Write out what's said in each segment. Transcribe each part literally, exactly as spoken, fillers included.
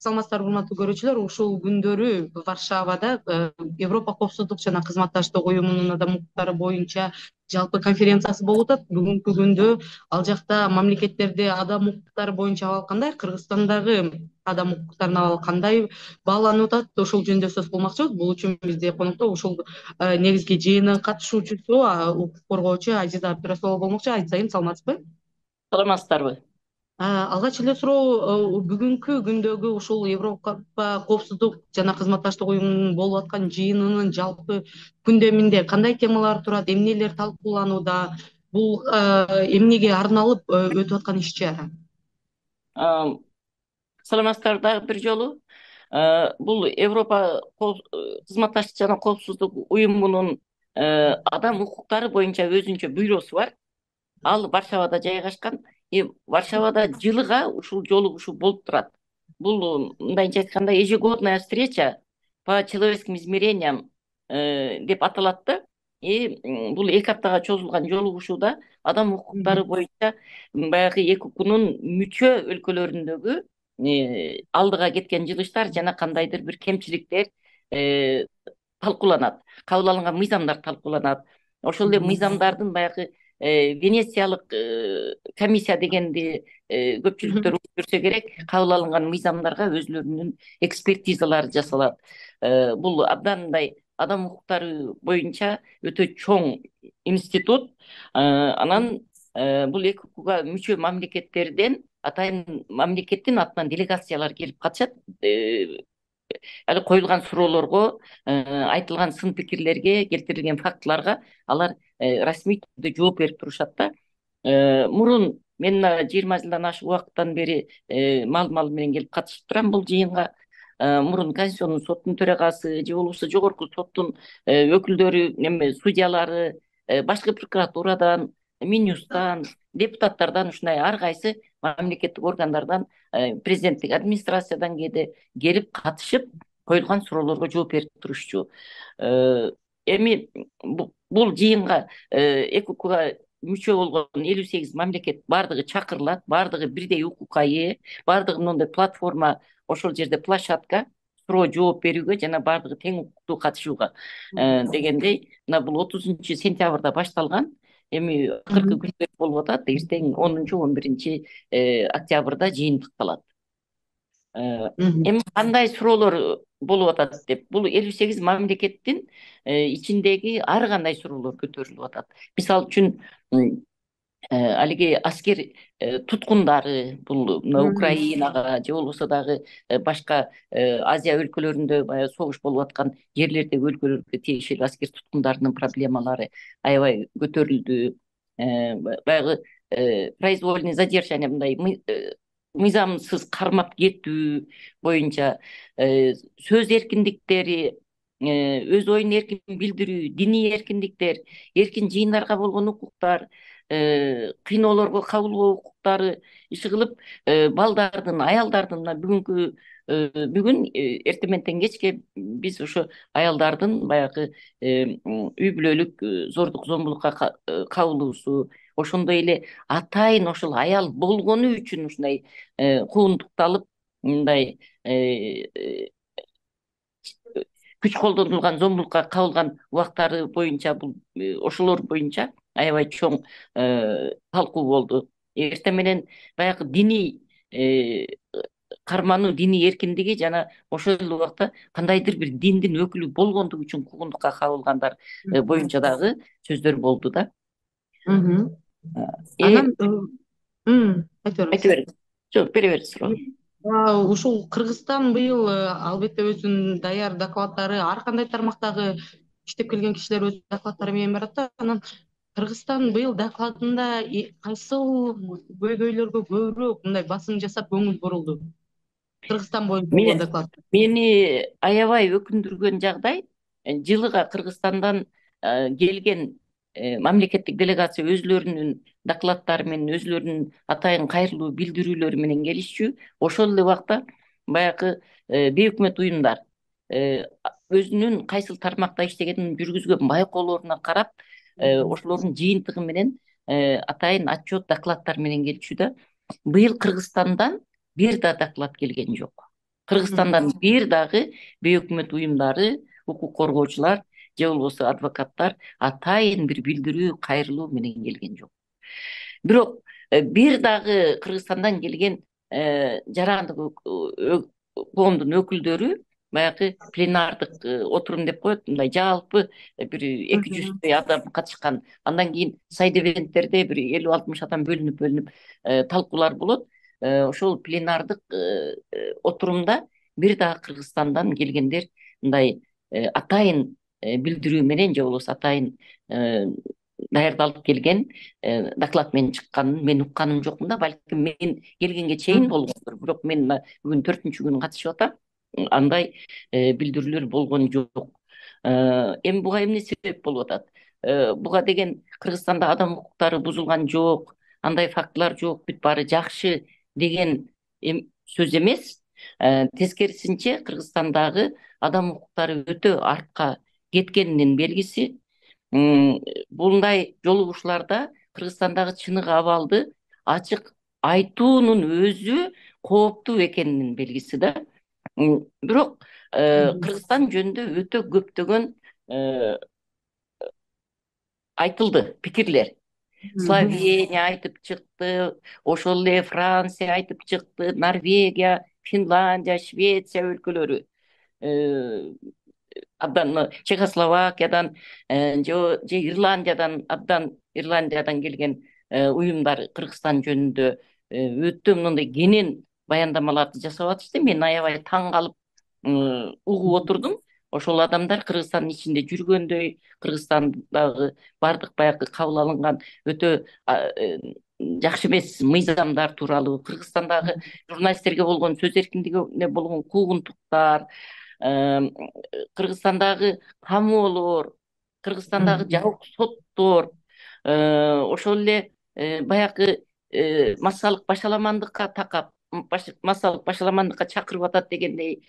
саламатсыздарбы урматтуу көрүүчүлөр. Ушул күндөрү Варшавада Европа коопсуздук жана кызматташтык уюмунун адам укуктары боюнча жалпы конференциясы болуп атат. Бүгүнкү күндө ал жакта мамлекеттерде адам укуктары боюнча абал кандай, Кыргызстандагы адам укуктарынын абалы кандай бааланып атат, ошол жөнүндө сөз кылмакчыбыз. Бул үчүн бизде конокто ушул негизги жыйынын катышуучусу, укук коргоочу Азиза Абдырасулова болмокчу. Азиза айым, саламатсызбы? Саламатсыздарбы? Алгач эле суроо, бүгүнкү күндөгү ушул Европа коопсуздук жана кызматташтык уюмунун болуп аткан жыйынынын жалпы күндөмүндө кандай темалар турат, эмнелер талкууланууда, бул эмнеге арналып өтүп аткан иш-чара? Саламатсыздар дагы бир жолу. Бул Европа кызматташтык жана коопсуздук уюмунун адам укуктары боюнча өзүнчө бюросу бар. Ал Варшавада жайгашкан. Варшавада жылыга ушул жолугушуу болуп турат. Бул мындайча айтканда ежегодная встреча по человеческим измерениям деп аталат да. И бул эки аптага чозулган жолугушууда адам укуктары боюнча баягы эки укукнун мүчө өлкөлөрүндөгү алдыга кеткен жылыштар жана кандайдыр бир кемчиликтер талкууланат. Кабыл алынган мыйзамдар талкууланат. Ошол эле мыйзамдардын баягы Венециялык комиссия дегенди көпчүлүктөр көрсө керек, кабыл алынган мыйзамдарга өзүлөрүнүн экспертизалары жасалат. Бул абдан мындай адам укуктары боюнча өтө чоң институт. Анан бул эки укукка мүчө мамлекеттерден атайын мамлекеттин атынан делегациялар келип катышат. Али коюлган суроолорго, айтылган сын пикирлерге, келтирилген фактыларга алар расмий түрдө жооп берип турушат да. Мурун мен мына жыйырма жылдан ашык убакыттан бери мал-мал менен келип катышып турам бул жыйынга. Мурун Конституциондун соттун төрагасы же болбосо жогорку соттун өкүлдөрү, эме судьялары, башкы прокуратурадан, Минюстан, депутаттардан, ушундай ар кайсы мамлекеттик органдардан, президенттик администрациядан кээде келип катышып, коюлган суроолорго жооп берип турушчу. Эми бул жыйынга эки укукка мүчө болгон элүү сегиз мамлекет баардыгы чакырылат, баардыгы бирдей укукка ээ, баардыгы мындай платформа, ошол жерде площадка суроо жооп берүүгө жана баардыгы тең укуктуу катышууга дегендей. Мына бул отузунчу сентябрда башталган. Эми акыркы күндөр болуп атат. Эртең онунчу он биринчи октябрда жыйын тыкталат. Эми кандай суроолор болуп атат деп, бул элүү сегиз мамлекеттин ичиндеги ар кандай суроолор көтөрүлүп атат. Мисалы үчүн алиги аскер туткундары, бул Украинага же болбосо дагы башка Азия өлкөлөрүндө баягы согуш болуп аткан жерлердеги өлкөлөргө тиешелүү аскер туткундарынын проблемалары аябай көтөрүлдү. Баягы произвольный задержание, мындай мыйзамсыз кармап кетүү боюнча, сөз эркиндиктери, өз оюн эркин билдирүү, диний эркиндиктер, эркин жыйындарга болгон укуктар, кыйноолорго кабылбоо укуктары, иши кылып балдардын, аялдардын бүгүнкү бүгүн эртең менен кечке биз ошо аялдардын баягы үй бүлөлүк зордук зомбулукка кабылуусу, ошондой эле атайын ошол аял болгону үчүн ушундай куугунтукталып, мындай күч колдонулган, зомбулукка кабылган убактары боюнча, бул ошолор боюнча аябай чоң талкуу болду. Эртең менен баягы диний кармануу, диний эркиндиги жана ошол эле убакта кандайдыр бир диндин өкүлү болгондугу үчүн куугунтукка кабылгандар боюнча дагы сөздөр болду да. Анан айта бериңиз. Жок, бере бериңиз суроо. Ушул Кыргызстан быйыл албетте өзүнүн даяр докладдары, ар кандай тармактагы иштеп келген кишилер өз докладдары менен барат да. Анан Кыргызстан быйыл докладында кайсыл көйгөйлөргө көбүрөөк мындай басым жасап көңүл бурулду? Кыргызстан боюнча болгон доклад. Мени аябай өкүндүргөн жагдай, жылыга Кыргызстандан келген мамлекеттик делегация өзүлөрүнүн докладдары менен, өзүлөрүнүн атайын кайрылуу билдирүүлөрү менен келишчү. Ошол эле убакта баягы бейөкмөт уюмдар өзүнүн кайсыл тармакта иштегенин жүргүзгөн байкоолоруна карап, ошолордун жыйынтыгы менен атайын отчет, докладдар менен келчү да. Быйыл Кыргызстандан бир да доклад келген жок. Кыргызстандан бир дагы бейөкмөт уюмдары, укук коргоочулар же болбосо адвокаттар атайын бир билдирүү, кайрылуу менен келген жок. Бирок бир дагы Кыргызстандан келген жарандык коомдун өкүлдөрү баягы пленардык отурум деп коет, мындай жалпы бир эки жүздөй адам катышкан. Андан кийин сайд-эвенттерде бир элүү алтымыш адам бөлүнүп бөлүнүп талкуулар болот. Ошол пленардык отурумда бир дагы Кыргызстандан келгендер мындай атайын билдирүү менен же болбосо атайын даярдалып келген доклад менен чыкканын мен укканым жокмун да. Балким мен келгенге чейин болгондур, бирок мен бүгүн төртүнчү күнү катышып атам, андай билдирүүлөр болгон жок. Эми буга эмне себеп болуп атат? Буга деген Кыргызстанда адам укуктары бузулган жок, андай фактылар жок, бүт баары жакшы деген сөз эмес. Тескерисинче Кыргызстандагы адам укуктары өтө артка кеткенинин белгиси. Bunday жолугушууларда Кыргызстандагы чыныгы абалды ачык айтуунун өзү кооптуу экенинин белгиси да. Бирок Кыргызстан жөнүндө өтө көптөгөн айтылды пикирлер. Словения айтып чыкты, ошол эле Франция айтып чыкты, Норвегия, Финляндия, Швеция өлкөлөрү, абдан Чехословакиядан же Ирландиядан абдан Ирландиядан келген уюмдар Кыргызстан жөнүндө өтө мындай кенен баяндамаларды жасап атышты. Мен аябай таң калып угуп отурдум. Ошол адамдар Кыргызстандын ичинде жүргөндөй, Кыргызстандагы бардык баягы кабыл алынган өтө жакшы эмес мыйзамдар тууралуу, Кыргызстандагы журналисттерге болгон сөз эркиндигине болгон куугунтуктар, Кыргызстандагы камоолор, Кыргызстандагы жабык соттор, ошол эле баягы массалык башаламандыкка такап, массалык башаламандыкка чакырып атат дегендей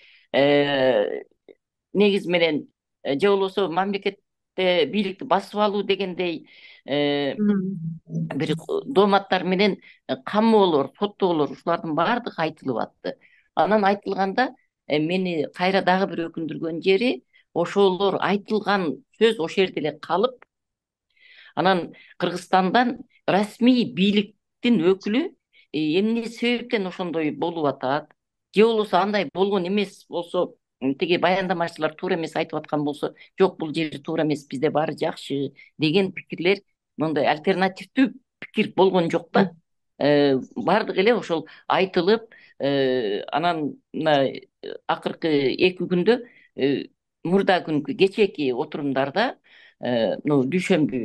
негиз менен, же болбосо мамлекетте бийликти басып алуу дегендей бир дооматтар менен камоолор, соттоолор, ушулардын баардыгы айтылып атты. Анан айтылганда мени кайра дагы бир өкүндүргөн жери, ошолор айтылган сөз ошол жерде эле калып, анан Кыргызстандан расмий бийликтин өкүлү эмне себептен ошондой болуп атат, же болбосо андай болгон эмес болсо, тиги баяндамачылар туура эмес айтып аткан болсо, жок бул жери туура эмес, бизде баары жакшы деген пикирлер, мындай альтернативдүү пикир болгон жок да. Баардыгы эле ошол айтылып, анан акыркы эки күндө, мурда күнкү кечээки отурумдарда, дүйшөмбү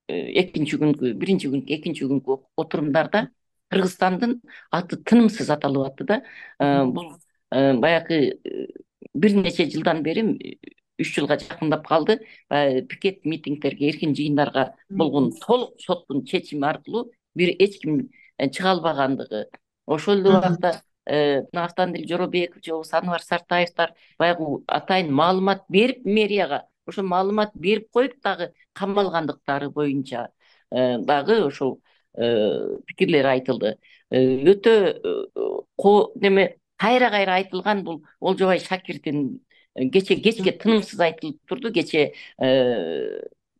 экинчи күнкү, биринчи күнкү, экинчи күнкү отурумдарда Кыргызстандын аты тынымсыз аталып атты да. Бул баягы бир нече жылдан бери, үч жылга жакындап калды, пикет митингдерге, эркин жыйындарга болгон толук соттун чечими аркылуу бир эч ким чыга албагандыгы. Ошол эле убакта Автандил Жоробеков же болбосо Анвар Сартаевдер баягы атайын маалымат берип мэрияга, ошо маалымат берип коюп дагы камалгандыктары боюнча дагы ошол пикирлер айтылды. Өтө неме кайра-кайра айтылган бул Олжобай Шакирдин кече кечке тынымсыз айтылып турду. Кече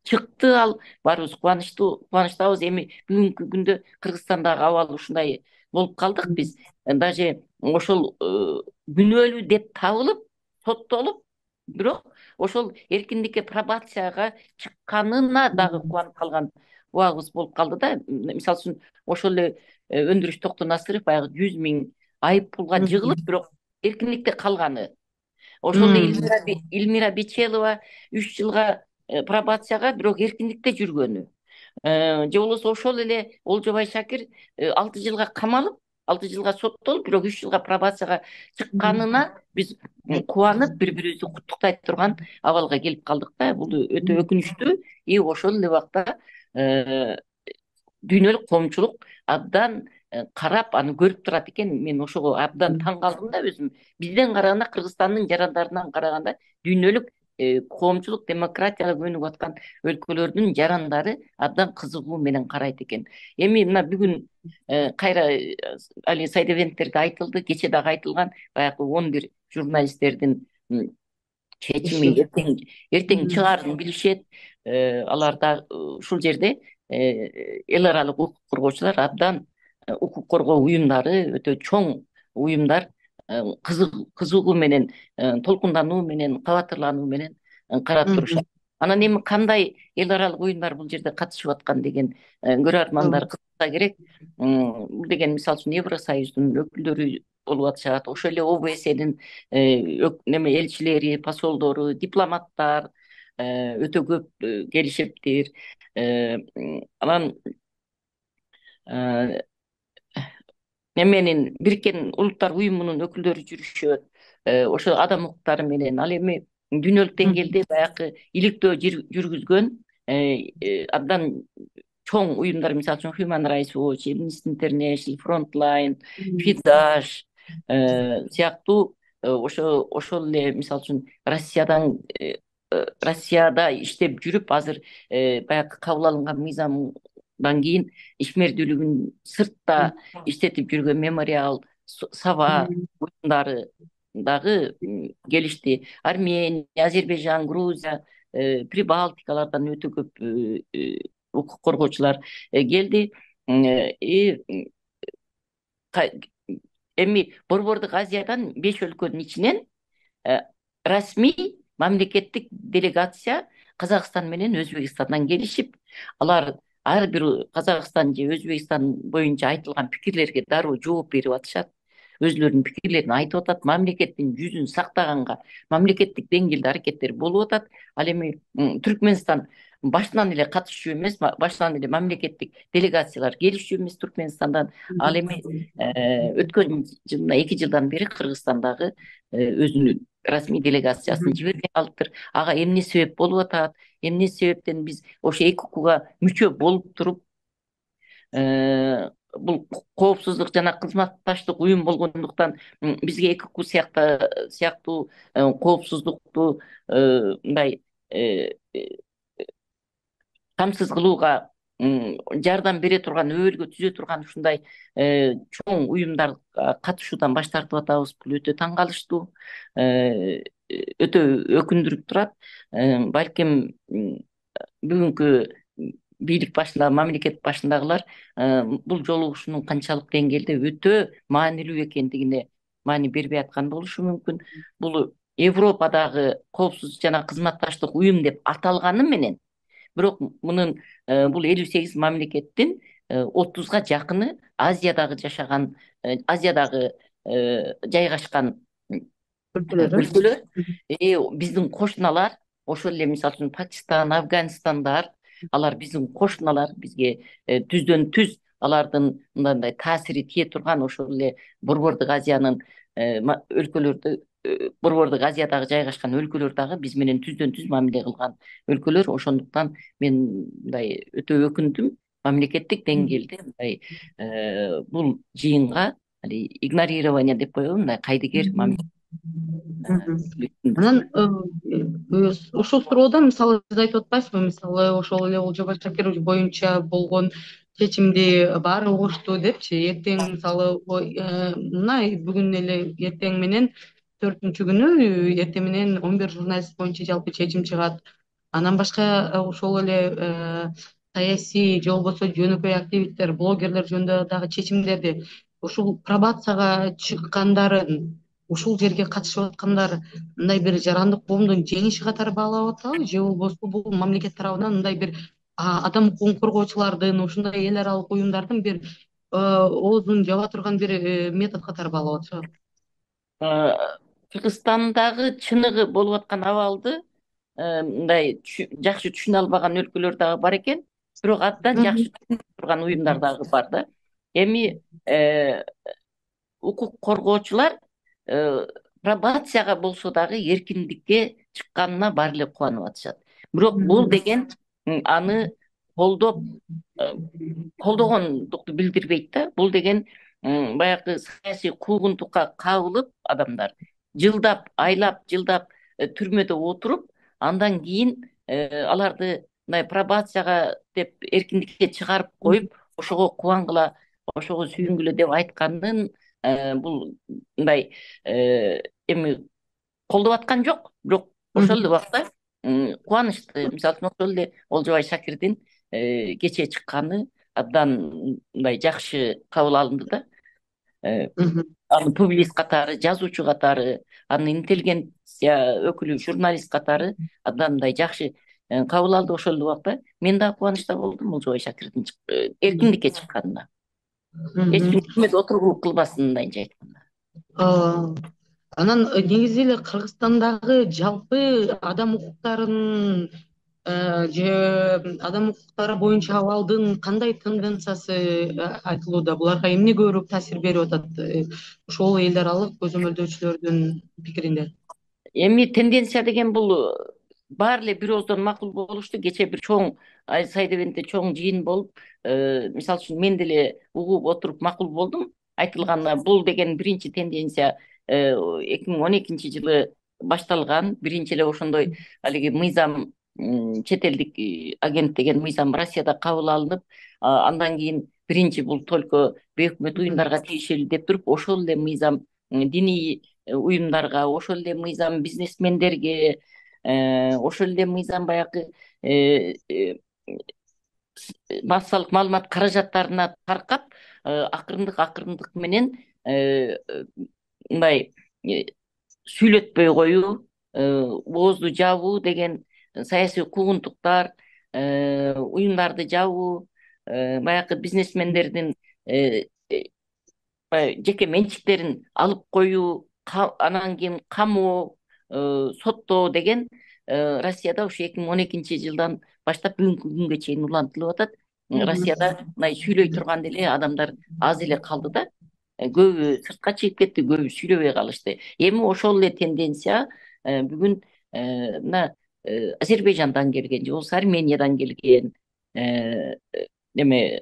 чыкты, ал баарыбыз кубанычтуу кубанычтабыз. Эми бүгүнкү күндө Кыргызстандагы абал ушундай болуп калдык. Биз даже ошол күнөөлүү деп табылып, соттолуп, бирок ошол эркиндикке пробацияга чыкканына дагы кубанып калган убагыбыз болуп калды да. Мисалы үчүн ошол эле Өндүрүш Токтонасыров баягы жүз миң айып пулга жыгылып, бирок эркиндикте калганы. Ошол эле Илмира Бичелова үч жылга пробацияга, бирок эркиндикте жүргөнү. Же болбосо ошол эле Олжобай Шакир алты жылга камалып, алты жылга соттолуп, бирок үч жылга пробацияга чыкканына биз кубанып, бири-бирибизди куттуктай турган абалга келип калдык да. Бул өтө өкүнүчтүү. И ошол эле убакта дүйнөлүк коомчулук абдан карап, аны көрүп турат экен. Мен ошого абдан таң калдым да өзүм. Бизден караганда, Кыргызстандын жарандарынан караганда дүйнөлүк коомчулук демократияга көнүгүп аткан өлкөлөрдүн жарандары абдан кызыгуу менен карайт экен. Эми мына бүгүн кайра али сайдыбендтерде айтылды, кече дагы айтылган, баягы он бир журналисттердин чечими эртең эртең чыгаарын билишет. Алар да ушул жерде эл аралык укук коргоочулар абдан укук коргоо уюмдары өтө чоң уюмдар кызыгуу менен, толкундануу менен, кабатырлануу менен карап турушат. Анан эми кандай эл аралык уюмдар бул жерде катышып аткан деген көрөрмандар кызыкса керек. Бул деген мисалы үчүн Евросоюздун өкүлдөрү болуп атышат, ошол эле О Б Сдин неме элчилери, посолдору, дипломаттар өтө көп келишиптир. Анан неменин Бириккен Улуттар уюмунун өкүлдөрү жүрүшөт, ошо адам укуктары менен. Ал эми дүйнөлүк деңгээлде баягы иликтөө жүргүзгөн абдан чоң уюмдар, мисалы үчүн Human Rights Watch, Amnesty International, Frontline, Фидаш сыяктуу ошо ошол эле мисалы үчүн Россиядан Россияда иштеп жүрүп, азыр баягы кабыл алынган мыйзамдан кийин ишмердүүлүгүн сыртта иштетип жүргөн Мемориал, Саба уюмдары дагы келишти. Армения, Азербайжан, Грузия, Прибалтикалардан өтө көп укук коргоочулар келди. Эми Борбордук Азиядан беш өлкөнүн ичинен расмий мамлекеттик делегация Казакстан менен Өзбекстандан келишип, алар ар бир Казакстан же Өзбекстан боюнча айтылган пикирлерге дароо жооп берип атышат. Өзлөрүнүн пикирлерин айтып атат, мамлекеттин жүзүн сактаганга мамлекеттик деңгээлде аракеттер болуп атат. Ал эми Түркмөнстан башынан эле катышчу эмес, башынан эле мамлекеттик делегациялар келишчү эмес Түркмөнстандан. Ал эми өткөн жылда эки жылдан бери Кыргызстандагы өзүнүн расмий делегациясын жибербей калыптыр. Ага эмне себеп болуп атат? Эмне себептен биз ошо эки укуга мүчө болуп туруп бул коопсуздук жана кызматташтык уюм болгондуктан бизге эки уку сыяктуу коопсуздукту мындай камсыз кылууга жардам бере турган, өбөлгө түзө турган ушундай чоң уюмдар катышуудан баш тартып атабыз. Бул өтө таң калыштуу, өтө өкүндүрүп турат. Балким бүгүнкү бийлик башындагы, мамлекет башындагылар бул жолу ушунун канчалык деңгээлде өтө маанилүү экендигине маани бербей аткан болушу мүмкүн. Бул Европадагы коопсуздук жана кызматташтык уюм деп аталганы менен, бирок мунун бул элүү сегиз мамлекеттин отузга жакыны Азиядагы жашаган, Азиядагы жайгашкан өлкөлөр. Биздин кошуналар, ошол эле мисалы үчүн Пакистан, Афганистандар, алар биздин кошуналар, бизге түздөн түз алардын мындай таасири тие турган ошол эле Борбордук Азиянын өлкөлөрдө, Борбордук Азиядагы жайгашкан өлкөлөр дагы биз менен түздөн түз мамиле кылган өлкөлөр. Ошондуктан мен мындай өтө өкүндүм. Мамлекеттик деңгээлде мындай бул жыйынга игнорирование деп коебу, мындай кайдыгер мамиле. Анан ушул суроодон мисалы сиз айтып атпайсызбы, мисалы ошол эле Олжобай Шакирович боюнча болгон чечимди баары угушту депчи, эртең мисалы мына бүгүн эле эртең менен төртүнчү күнү эртең менен он бир журналист боюнча жалпы чечим чыгат. Андан башка ошол эле саясий же болбосо жөнөкөй активисттер, блогерлер жөнүндө дагы чечимдерди ушул пробацияга чыккандарын, ушул жерге катышып аткандар мындай бир жарандык коомдун жеңиши катары баалап атабы, же болбосо бул мамлекет тарабынан мындай бир адам укугун коргоочулардын, ушундай эл аралык уюмдардын бир оозун жаба турган бир метод катары баалап атышат? Кыргызстандагы чыныгы болуп аткан абалды мындай жакшы түшүнө албаган өлкөлөр дагы бар экен, бирок абдан жакшы түшүнүп турган уюмдар дагы бар да. Эми укук коргоочулар пробацияга болсо дагы эркиндикке чыкканына баары эле кубанып атышат. Бирок бул деген аны колдоп колдогондукту билдирбейт да. Бул деген баягы саясий куугунтукка кабылып адамдар жылдап, айлап, жылдап түрмөдө отуруп, андан кийин аларды мындай пробацияга деп эркиндикке чыгарып коюп, ошого кубангыла, ошого сүйүнгүлө деп айтканын бул мындай эми колдоп аткан жок. Бирок ошол эле убакта кубанычтуу. Мисалы үчүн ошол эле Олжобай Шакирдин кечээ чыкканы абдан мындай жакшы кабыл алынды да. Аны публицист катары, жазуучу катары, аны интеллигенция өкүлү, журналист катары абдан мындай жакшы кабыл алды. Ошол эле убакта мен дагы кубанычта болдум Олжобай Шакирдин эркиндикке чыкканына. Эч ким өкмөт отургулук кылбасын, мындайынча айтканда. Анан негизи эле Кыргызстандагы жалпы адам укуктарын же адам укуктары боюнча абалдын кандай тенденциясы айтылууда? Буларга эмне көбүрөөк таасир берип атат ошол эл аралык көзөмөлдөөчүлөрдүн пикиринде? Эми тенденция деген бул баары эле бир ооздон макул болушту. Кечээ бир чоң Сайдебенте чоң жыйын болуп, мисалы үчүн мен деле угуп отуруп макул болдум. Айтылган бул деген биринчи тенденция эки миң он экинчи жылы башталган. Биринчи эле ошондой алиги мыйзам, чет элдик агент деген мыйзам Россияда кабыл алынып, андан кийин биринчи бул только бейөкмөт уюмдарга тийиштүү деп туруп, ошол эле мыйзам диний уюмдарга, ошол эле мыйзам бизнесмендерге, ошол эле мыйзам баягы массалык маалымат каражаттарына таркап, акырындык акырындык менен мындай сүйлөтпөй коюу, оозду жабуу деген, саясий куугунтуктар, уюмдарды жабуу, баягы бизнесмендердин жеке менчиктерин алып коюу, анан кийин камоо, соттоо деген Россияда ушу эки миң он экинчи жылдан баштап бүгүнкү күнгө чейин улантылып атат. Россияда мындай сүйлөй турган деле адамдар аз эле калды да. Көбү сыртка чыгып кетти, көбү сүйлөбөй калышты. Эми ошол эле тенденция бүгүн мына Азербайжандан келген, же болбосо Армениядан келген эме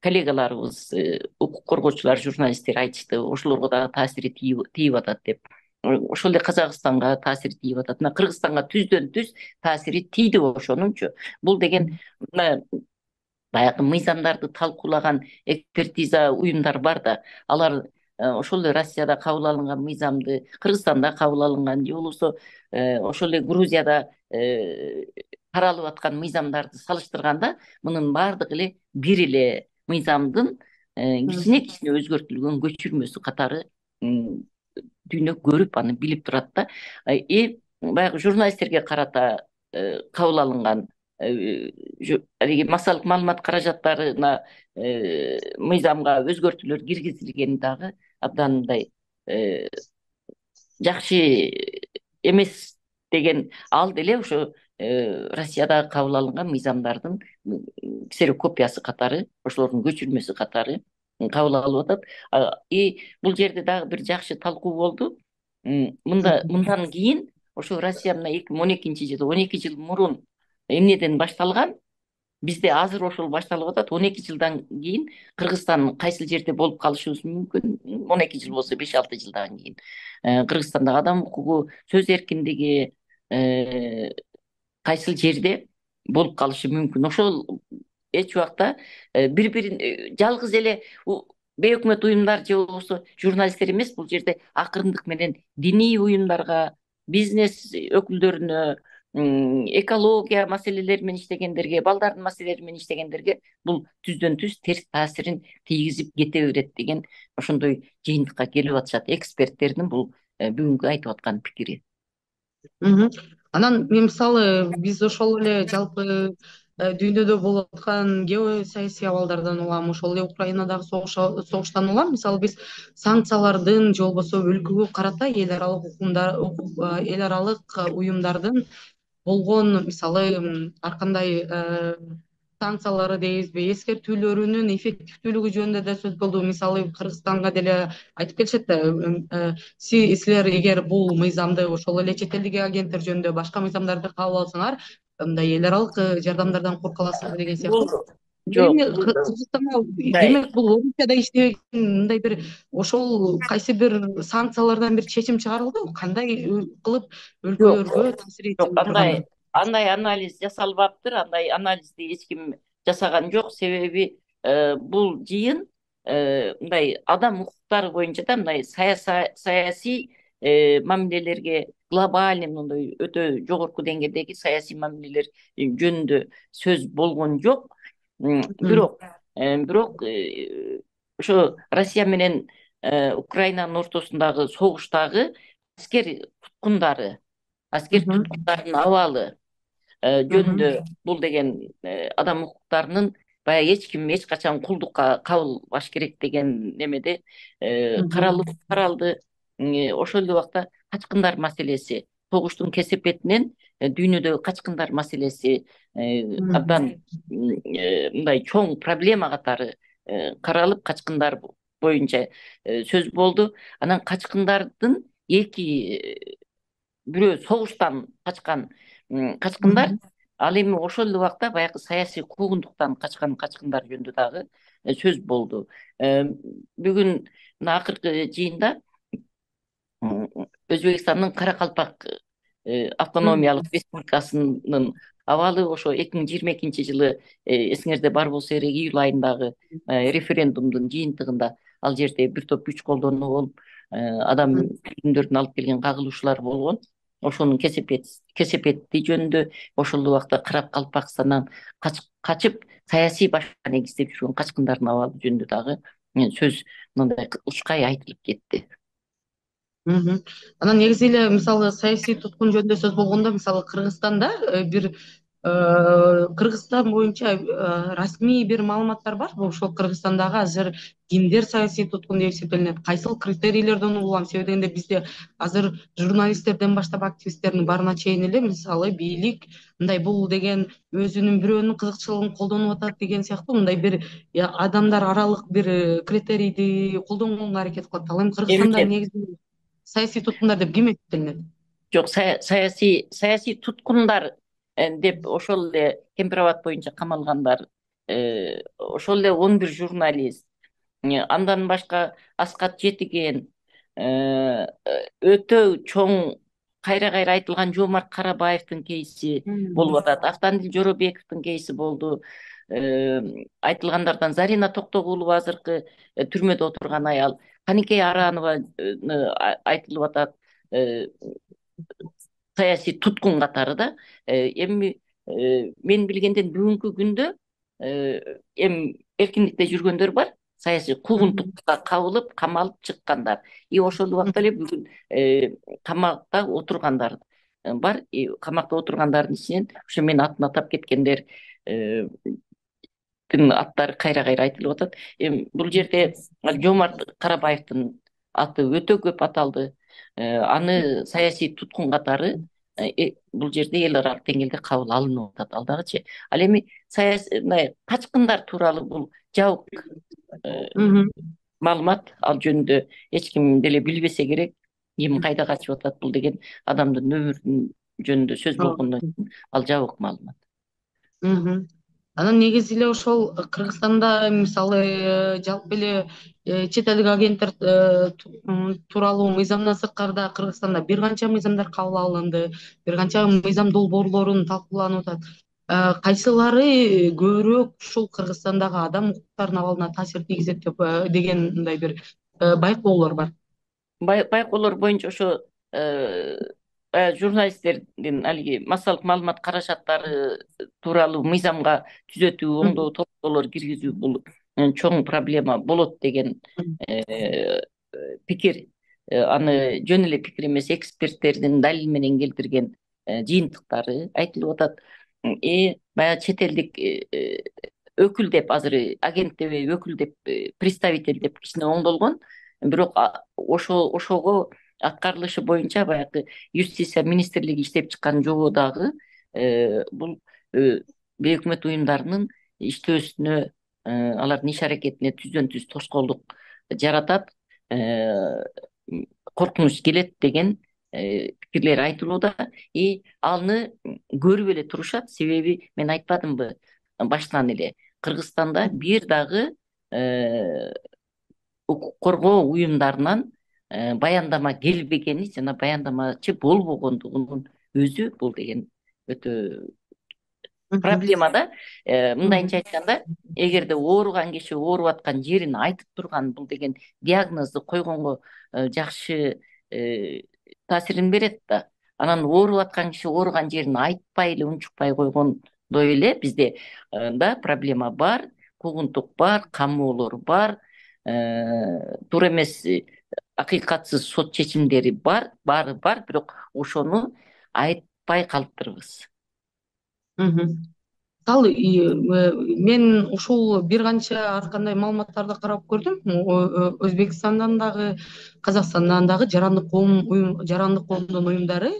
коллегаларыбыз, укук коргоочулар, журналисттер айтышты. Ошолорго дагы таасири тийип атат деп. Ошол эле Казакстанга таасири тийип атат. Мына Кыргызстанга түздөн түз таасири тийди ошонунчу. Бул деген баягы мыйзамдарды талкуулаган экспертиза уюмдар бар да. Алар ошол эле Россияда кабыл алынган мыйзамды Кыргызстанда кабыл алынган, же болбосо ошол эле Грузияда каралып аткан мыйзамдарды салыштырганда, мунун баардыгы эле бир эле мыйзамдын кичине кичине өзгөртүлгөн көчүрмөсү катары дүйнө көрүп, аны билип турат да. И баягы журналисттерге карата кабыл алынган алиги массалык маалымат каражаттарына мыйзамга өзгөртүүлөр киргизилгени дагы абдан мындай жакшы эмес деген, ал деле ошо Россияда кабыл алынган мыйзамдардын ксерокопиясы катары, ошолордун көчүрмөсү катары кабыл алып атат. И бул жерде дагы бир жакшы талкуу болду. Мында мындан кийин ошо Россия мына эки миң он экинчи жылы, он эки жыл мурун эмнеден башталган, бизде азыр ошол башталып атат. он эки жылдан кийин Кыргызстан кайсыл жерде болуп калышыбыз мүмкүн. он эки жыл болсо беш алты жылдан кийин Кыргызстандагы адам укугу, сөз эркиндиги кайсыл жерде болуп калышы мүмкүн. Ошол эч убакта бири-бирин жалгыз эле бейөкмөт уюмдар же болбосо журналисттер эмес, бул жерде акырындык менен диний уюмдарга, бизнес өкүлдөрүнө, экология маселелери менен иштегендерге, балдардын маселелери менен иштегендерге бул түздөн түз терс таасирин тийгизип кете берет деген ошондой жыйынтыкка келип атышат эксперттердин бул бүгүнкү айтып аткан пикири. Анан мен мисалы биз ошол эле жалпы дүйнөдө болуп аткан геосаясий абалдардан улам, ошол эле Украинадагы согуштан улам, мисалы биз санкциялардын же болбосо өлкөгө карата эл аралык укумдар, эл аралык уюмдардын болгон мисалы ар кандай санкциялары дейбизби, эскертүүлөрүнүн эффективдүүлүгү жөнүндө да сөз болду. Мисалы Кыргызстанга деле айтып келишет да, силер эгер бул мыйзамды ошол эле чет элдик агенттер жөнүндө башка мыйзамдарды кабыл алсаңар, мындай эл аралык жардамдардан курка каласыңар деген сыяктуу. Жок, Кыргызстанда демек бул орусчада иштеген мындай бир ошол кайсы бир санкциялардан бир чечим чыгарылды, кандай кылып өлкөлөргө таасир этип турган? андай анализ жасалбаптыр, андай анализди эч ким жасаган жок. Себеби бул жыйын мындай адам укуктары боюнча да мындай саясий мамилелерге, глобальный мындай өтө жогорку деңгээлдеги саясий мамилелер жөнүндө сөз болгон жок. Бирок бирок ошо Россия менен Украинанын ортосундагы согуштагы аскер туткундары, аскер туткундардын абалы жөнүндө бул деген адам укуктарынын баягы эч ким эч качан кулдукка кабылбаш керек деген немеде каралып каралды. Ошол эле убакта качкындар маселеси, согуштун кесепетинен дүйнөдөгү качкындар маселеси абдан мындай чоң проблема катары каралып, качкындар боюнча сөз болду. Анан качкындардын эки бирөө согуштан качкан качкындар, ал эми ошол эле убакта баягы саясий куугундуктан качкан качкындар жөнүндө дагы сөз болду. Бүгүн мына акыркы жыйында Өзбекстандын Каракалпак автономиялык республикасынын абалы ошо эки миң жыйырма экинчи жылы эсиңерде бар болсо керек июль айындагы референдумдун жыйынтыгында ал жерде бир топ күч колдонуу болуп, адам өлүмдөрүн алып келген кагылышуулар болгон. Ошонун кесепети жөнүндө, ошол убакта Каракалпакстандан качып саясий башка негиздеп жүргөн качкындардын абалы жөнүндө дагы сөз мындай ушкай айтылып кетти. Анан негизи эле мисалы саясий туткун жөнүндө сөз болгондо, мисалы Кыргызстанда бир Кыргызстан боюнча расмий бир маалыматтар бар. Ошол Кыргызстандагы азыр кимдер саясий туткун деп эсептелинет, кайсыл критерийлерден угулам. Себеби дегенде бизде азыр журналисттерден баштап активисттердин баарына чейин эле мисалы бийлик мындай бул деген өзүнүн бирөөнүн кызыкчылыгын колдонуп атат деген сыяктуу мындай бир адамдар аралык бир критерийди колдонгонго аракет кылат. Ал эми Кыргызстанда негизи саясий туткундар деп ким эсептелинет? Жок, саясий саясий туткундар деп ошол эле Кемпирабад боюнча камалгандар, ошол эле он бир журналист, андан башка Аскат Жетиген, өтө чоң кайра кайра айтылган Жоомарт Карабаевдин кейси болуп атат, Автандил Жоробековдун кейси болду. Айтылгандардан Зарина Токтогулова азыркы түрмөдө отурган аял, Каникей Аранова айтылып атат саясий туткун катары да. Эми мен билгенден бүгүнкү күндө эми эркиндикте жүргөндөр бар, саясий куугунтукка кабылып, камалып чыккандар. И ошол убакта эле бүгүн камакта отургандар бар. Камакта отургандардын ичинен ошо мен атын атап кеткендер аттары кайра кайра айтылып атат. Эми бул жерде Жоомарт Карабаевдин аты өтө көп аталды. Аны саясий туткун катары бул жерде эл аралык деңгээлде кабыл алынып атат. Ал дагычы. Ал эми саясий качкындар тууралуу бул жабык маалымат, ал жөнүндө эч ким деле билбесе керек. Ким кайда качып атат бул деген адамдын өмүрүнүн жөнүндө сөз болгондон кийин ал жабык маалымат. Анан негизи эле ошол Кыргызстанда мисалы жалпы эле чет элдик агенттер тууралуу мыйзамдан сырткары Кыргызстанда бир канча мыйзамдар кабыл алынды, бир канча мыйзам долбоорлорун талкууланып атат. Кайсылары көбүрөөк ушул Кыргызстандагы адам укуктарынын абалына таасир тийгизет деген мындай бир байкоолор бар. Байкоолор боюнча ошо журналисттердин алиги массалык маалымат каражаттары тууралуу мыйзамга түзөтүү, оңдоо, толуктоолор киргизүү бул чоң проблема болот деген пикир. Аны жөн эле пикир эмес, эксперттердин далил менен келтирген жыйынтыктары айтылып атат. И баягы чет элдик өкүл деп, азыр агент деп, өкүл деп, представитель деп кичине оңдолгон. Бирок ошо ошого аткарылышы боюнча баягы юстиция министрлиги иштеп чыккан жобо дагы бул бейөкмөт уюмдарынын иштөөсүнө, алардын иш аракетине түздөн түз тоскоолдук жаратат, коркунуч келет деген пикирлер айтылууда. И аны көрүп эле турушат. Себеби мен айтпадымбы баштан эле, Кыргызстанда бир дагы укук коргоо уюмдарынан баяндама келбегени жана баяндамачы болбогондугунун өзү бул деген өтө Мгм. проблема да. Э, мындайынча Мгм. айтканда, эгерде ооруган киши ооруп аткан жерин айтып турган, бул деген диагнозду койгонго э, жакшы э, таасирин берет да. Анан ооруп аткан киши ооруган жерин айтпай эле, унчукпай койгондой эле бизде э, да проблема бар, куугунтук бар, камоолор бар, э, туура эмес, э, акыйкатсыз сот чечимдери бар, баары бар, бирок ошону айтпай калыптырбыз. Мгм. Ал и, э, мен ушул бир канча ар кандай маалыматтарды карап көрдүм. О- О- Өзбекстандан дагы, Казакстандан дагы жарандык коом уюм, жарандык коомдун уюмдары,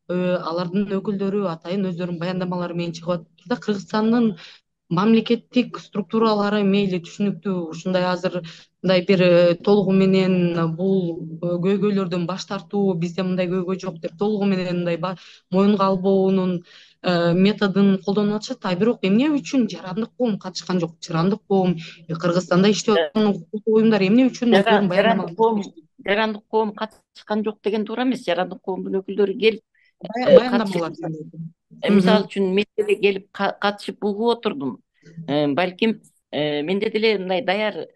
э, алардын өкүлдөрү атайын өздөрүнүн баяндамалары менен чыгып атты да. Кыргызстандын мамлекеттик структуралары мейли түшүнүктүү, ушундай азыр мындай бир э, толугу менен бул э, көйгөйлөрдөн баш тартуу, бизде мындай көйгөй жок деп толугу менен мындай ба- моюнга албоонун э, методун колдонуп атышат. А бирок эмне үчүн жарандык коом катышкан жок? Жарандык коом, э, Кыргызстанда иштеп Э, аткан укуктуу уюмдар эмне үчүн жара- өздөрүнүн жарандык баяндамаларын коом беришти? жарандык коом катышкан жок деген туура эмес. Жарандык коомдун өкүлдөрү келип Бая- э, Баяндамалар катышып, дегенде. э, мисалы Мгм. үчүн мен деле келип ка- катышып угуп отурдум. Э, балким э, менде деле мындай даяр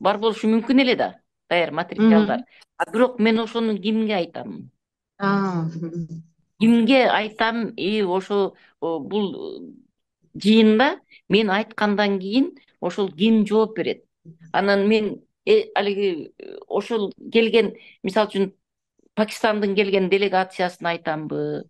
бар болушу мүмкүн эле да, даяр материалдар. Мгм. А бирок мен ошону кимге айтам? А, мгм. Кимге айтам? И ошо о, бул э, жыйында мен айткандан кийин ошол ким жооп берет? Анан мен э, алиги э, ошол келген, мисалы үчүн Пакистандын келген делегациясына айтамбы,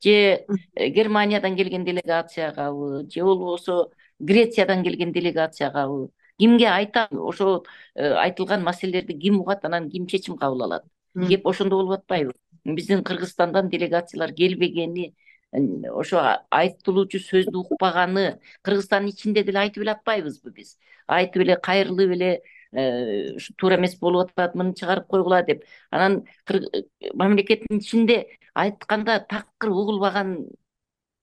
же э, Германиядан келген делегациягабы, же болбосо Грециядан келген делегациягабы? Кимге айтам? Ошол э, айтылган маселелерди ким угат, анан ким чечим кабыл алат? Мгм. Кеп ошондо болуп атпайбы? Биздин Кыргызстандан делегациялар келбегени, э, ошо а- айтылуучу сөздү укпаганы Кыргызстандын ичинде деле айтып эле атпайбызбы биз? Айтып эле кайрылып эле э, ушу туура эмес болуп атат, муну чыгарып койгула деп. Анан кыр- э, мамлекеттин ичинде айтканда такыр угулбаган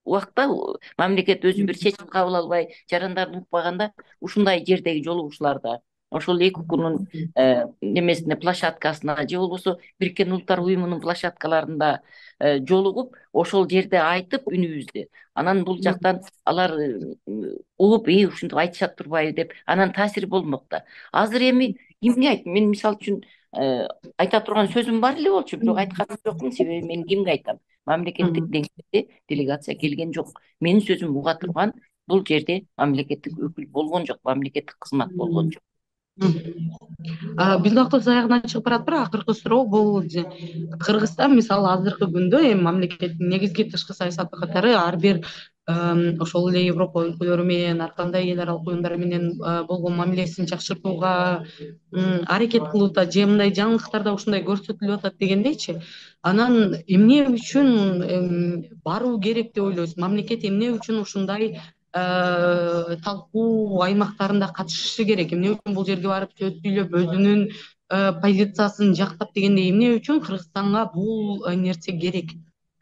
убакта, у- мамлекет өзү бир чечим кабыл албай, жарандарды укпаганда, ушундай жердеги жолугушууларда, ошол эки укунун э, немесине, площадкасына, же болбосо Бириккен Улуттар Уюмунун площадкаларында э, жолугуп, ошол жерде айтып үнүбүздү, анан бул жактан алар э, угуп, и ушинтип айтышат турбайбы деп, анан таасир болмок да. Азыр эми кимге айт? Мен мисалы үчүн э, айта турган сөзүм бар эле болчу, бирок айтканым жокмун, себеби мен кимге айтам? Мамлекеттик Мгм. деңгээлде делегация келген жок. Менин сөзүм уга турган бул жерде мамлекеттик өкүл болгон жок, мамлекеттик кызмат болгон жок. Мгм. А, биздин автобус аягына чыгып баратыптыр. Акыркы суроо бул же- Кыргызстан мисалы азыркы күндө эми мамлекеттин негизги тышкы саясаты катары ар бир эм, ошол эле Европа өлкөлөрү менен ар кандай эл аралык уюмдар менен э, болгон мамилесин жакшыртууга м, аракет кылып атат, же мындай жаңылыктарда ушундай көрсөтүлүп атат дегендейчи. Анан эмне үчүн эм, баруу керек деп ойлойсуз? Мамлекет эмне үчүн ушундай э, талкуу аймактарында катышышы керек? Эмне үчүн бул жерге барып сөз сүйлөп өзүнүн э, позициясын жактап дегендей, эмне үчүн Кыргызстанга бул э, нерсе керек?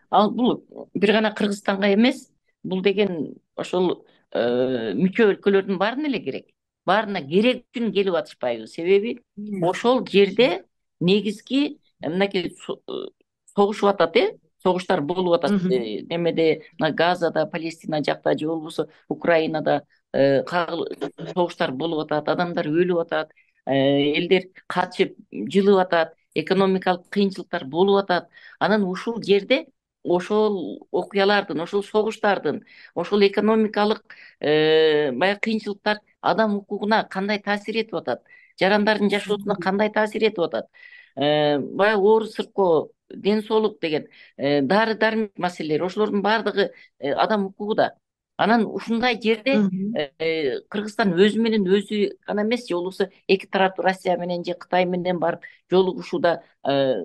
Ал бул бир гана Кыргызстанга эмес, бул деген ошол э, мүчө өлкөлөрдүн баарына эле керек. Баарына керек үчүн келип атышпайбы? Себеби ошол жерде негизги э, мынакей со- э, согушуп атат, э согуштар болуп атат. Мгм. Э, немеде, мына Газада, Палестина жакта, же болбосо Украинада э, кагыл- согуштар болуп атат, адамдар өлүп атат, э, элдер качып жылып атат, экономикалык кыйынчылыктар болуп атат. Анан ушул жерде ошол окуялардын, ошол согуштардын, ошол экономикалык э, баягы кыйынчылыктар адам укугуна кандай таасир этип атат, жарандардын жашоосуна кандай таасир этип атат, э, баягы оор сыркоо, ден соолук деген, э, дары дармек маселелери, ошолордун баардыгы э, адам укугу да. Анан ушундай жерде Мгм. э, Кыргызстан өзү менен өзү гана эмес, же болбосо эки тараптуу Россия менен же Кытай менен барып жолугушууда э,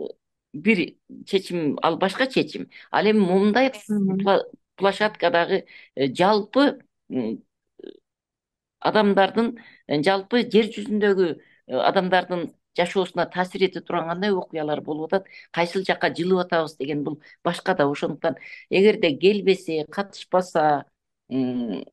бир чечим, ал башка чечим. Ал эми момундай Мгм. пла- площадкадагы э, жалпы м, адамдардын, э, жалпы жер жүзүндөгү э, адамдардын жашоосуна таасир эте турган кандай окуялар болуп атат, кайсыл жакка жылып атабыз деген бул башка да. Ошондуктан эгерде келбесе, катышпаса, м,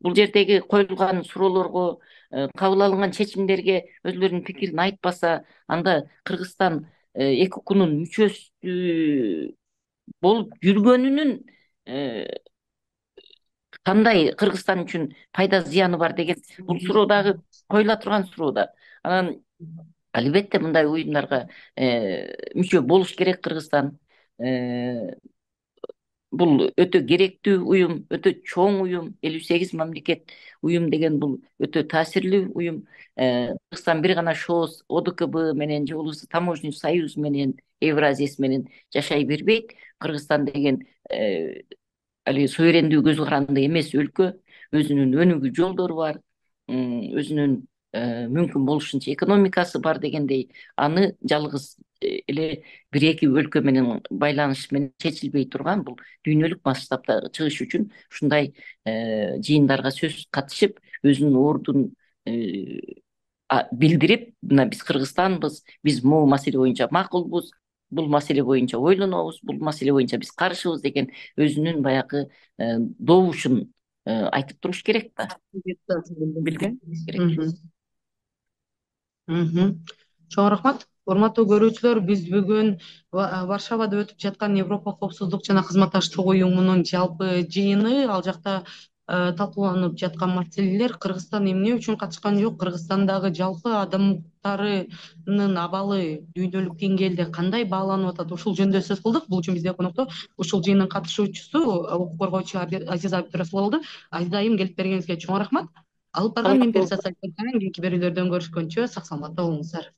бул жердеги коюлган суроолорго, э, кабыл алынган чечимдерге өзүлөрүнүн пикирин айтпаса, анда Кыргызстан э, эки укунун мүчөсү болуп жүргөнүнүн кандай Кыргызстан үчүн пайда зыяны бар деген бул суроо дагы коюла турган суроо да. Анан албетте мындай уюмдарга мүчө болуш керек Кыргызстан. Бул өтө керектүү уюм, өтө чоң уюм, элүү сегиз мамлекет уюм деген бул өтө таасирлүү уюм. Кыргызстан бир гана ШОС, ОДКБ менен же болбосо Таможенный союз менен, Евразияс менен жашай бербейт. Кыргызстан деген али суверендүү көз каранды эмес өлкө, өзүнүн өнүгүү жолдору бар, өзүнүн мүмкүн болушунча экономикасы бар дегендей, аны жалгыз эле бир эки өлкө менен байланыш менен чечилбей турган, бул дүйнөлүк масштабта чыгыш үчүн ушундай жыйындарга сөзсүз катышып, өзүнүн ордун билдирип, мына биз Кыргызстанбыз, биз могу маселе боюнча макулбуз, бул маселе боюнча ойлонобуз, бул маселе боюнча биз каршыбыз деген өзүнүн баягы добушун айтып туруш керек да. Билдириш керек. Чоң рахмат. Урматтуу көрүүчүлөр, биз бүгүн Варшавада өтүп жаткан Европа коопсуздук жана кызматташтык уюмунун жалпы жыйыны, ал жакта талкууланып жаткан маселелер Кыргызстан эмне үчүн катышкан жок, Кыргызстандагы жалпы адам укуктарынын абалы дүйнөлүк деңгээлде кандай бааланып атат, ушул жөнүндө сөз кылдык. Бул үчүн бизде конокто ушул жыйындын катышуучусу, укук коргоочу Азиза Абдырасулова болду. Азиза айым, келип бергениңизге чоң рахмат. Алып барган Мен Перизат Сайтынан кийинки берүүлөрдөн көрүшкөнчө сак саламатта болуңуздар.